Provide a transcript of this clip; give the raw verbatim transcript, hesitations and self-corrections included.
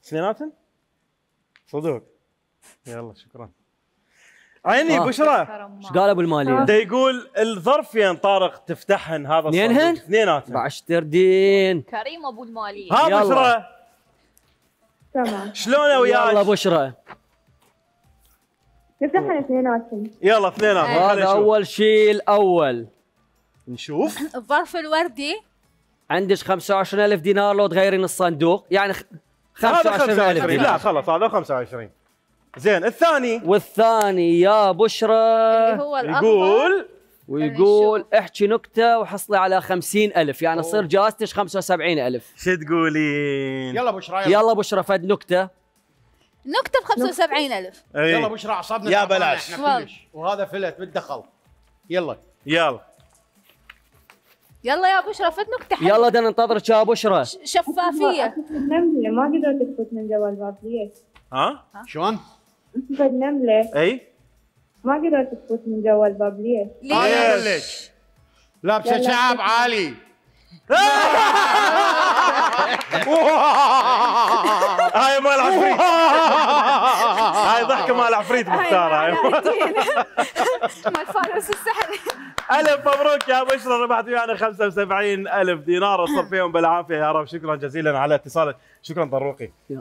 اثنيناتن؟ صدق. يلا شكرا. عيني آه. بشرى ايش قال ابو الماليه؟ دا يقول الظرف فين طارق تفتحهن هذا الصندوق. اثنينهن؟ اثنيناتن. بعشتر دين. كريم ابو الماليه. ها بشرى. تمام. شلونه وياك؟ يلا بشرى. نفتحهن اثنيناتن. يلا اثنيناتن. هذا اول شيء الاول. نشوف. الظرف الوردي. عندك خمسة وعشرين ألف دينار لو تغيرين الصندوق، يعني خمسة وعشرين ألف دينار. لا خلص هذا خمسة وعشرين. زين الثاني. والثاني يا بشرى اللي هو يقول ويقول احكي نكته وحصلي على خمسين ألف، يعني تصير جائزتك خمسة وسبعين ألف. شو تقولين؟ يلا بشرى يلا, يلا بشرى فد نكته. نكته ب خمسة وسبعين ألف. يلا بشرى اعصابنا يا بلاش احنا كلش، وهذا فلت بالدخل. يلا يلا يلا يا بشرى فد نكته حلوه. يلا بدنا ننتظرك يا بشرى. شفافيه. نمله ما قدرت تفوت من جوا الباب ليش؟ ها؟ شلون؟ فد نمله. اي؟ ما قدرت تفوت من جوا الباب ليش؟ ليش؟ لابسه شعب عالي. هاي مال عفريت. هاي ضحكه مال عفريت مختاره. مال فانوس السحر. الف مبروك يا بشرى، ربحت ويانا خمسة وسبعين ألف دينار، اصب فيهم بالعافيه يا رب. شكرا جزيلا على اتصالك. شكرا طروقي.